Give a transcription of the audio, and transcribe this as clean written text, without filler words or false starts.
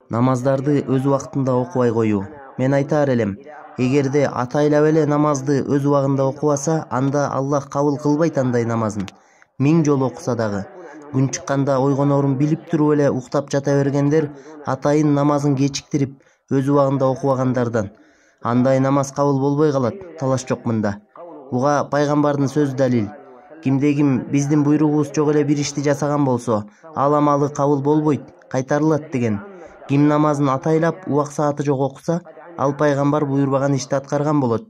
Намаздарды өз убактында окубай коюу. Мен айтаар элем, эгерде атайлап эле намазды өз убагында окубаса, анда Аллах кабыл кылбайт андай намазын. 1000 жолу окуса дагы. Күн чыкканда ойгонорун билип туруп эле уктап жата бергендер атайын намазын кечиктирип, өз убагында окубагандардан. Андай намаз кабыл болбой калат, талаш жок мында. Буга пайгамбардын сөзү далил. Кимде-ким биздин буйругубуз жок эле бир ишти жасаган болсо, ал амалы кабыл болбойт, кайтарылат деген. Ким намазын атайлап убак сааты жок окуса, ал пайгамбар буйрбаган ишти аткарган болот.